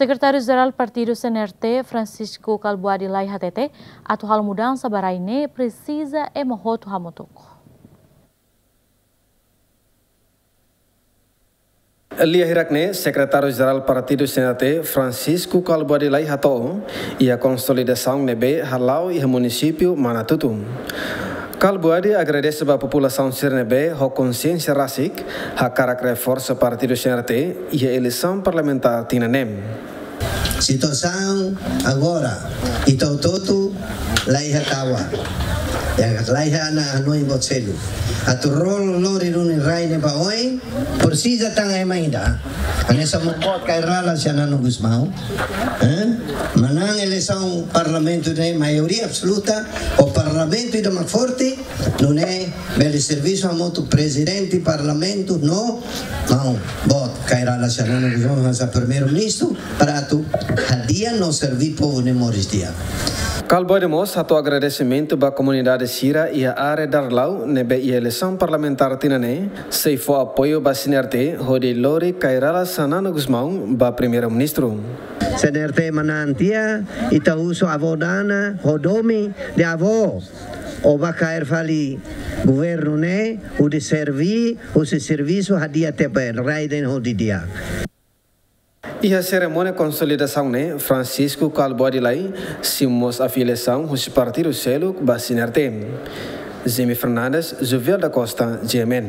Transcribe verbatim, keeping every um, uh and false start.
Sekretáriu Jerál Partidu C N R T, Francisco Kalbuadi Lay hatete, atu halo mudansa ba rai ne'e presiza ema hotu hamutuk. Lia hirak ne'e, Sekretáriu Jerál Partidu C N R T, Francisco Kalbuadi Lay hato'o, iha konsolidasaun ne'ebé hala'o iha munisípiu Manatutu. Kalbuadi agradese ba populasaun sira ne'ebé ho konsiénsia rasik hakarak reforsa Partidu C N R T iha eleisaun parlamentár tinan ne'e. Situasaun agora, ita hotu-hotu la iha tau, ya, la iha ona hanoin boot seluk. Atu rol lori duni rai ne'e ba oin, presiza tan ema ida. Hanesan boot Kay Rala Xanana Gusmão. Eh? Manán eleisaun parlamentu ne'e maioria absoluta, ho parlamentu ida mak forte, nune'e bele servisu hamutuk prezidente parlamentu no maun boot Kay Rala Xanana Gusmão hanesan primeiru-ministru, para atu hadi'a no serví povu ne'e moris di'ak. Kalbuadi mós hato'o agradesimentu ba komunidade sira iha área Darlau ne'ebé iha eleisaun parlamentár tinan ne'e sei fó apoiu ba C N R T hodi lori Kay Rala Xanana Gusmão ba primeiru-ministru. C N R T manán tiha, ita husu avó Dana ho domin dehan avó, ó bá kaer fali governu ne'e, hodi serví, husi servisu hadi'a tiha ba rai ida-ne'e ho di'ak. Iha serimónia konsolidasaun ne'e, Francisco Kalbuadi Lay simu mós afiliasaun husi partidu seluk ba C N R T. Jimmy Fernandes, Jovial da Costa, G M N.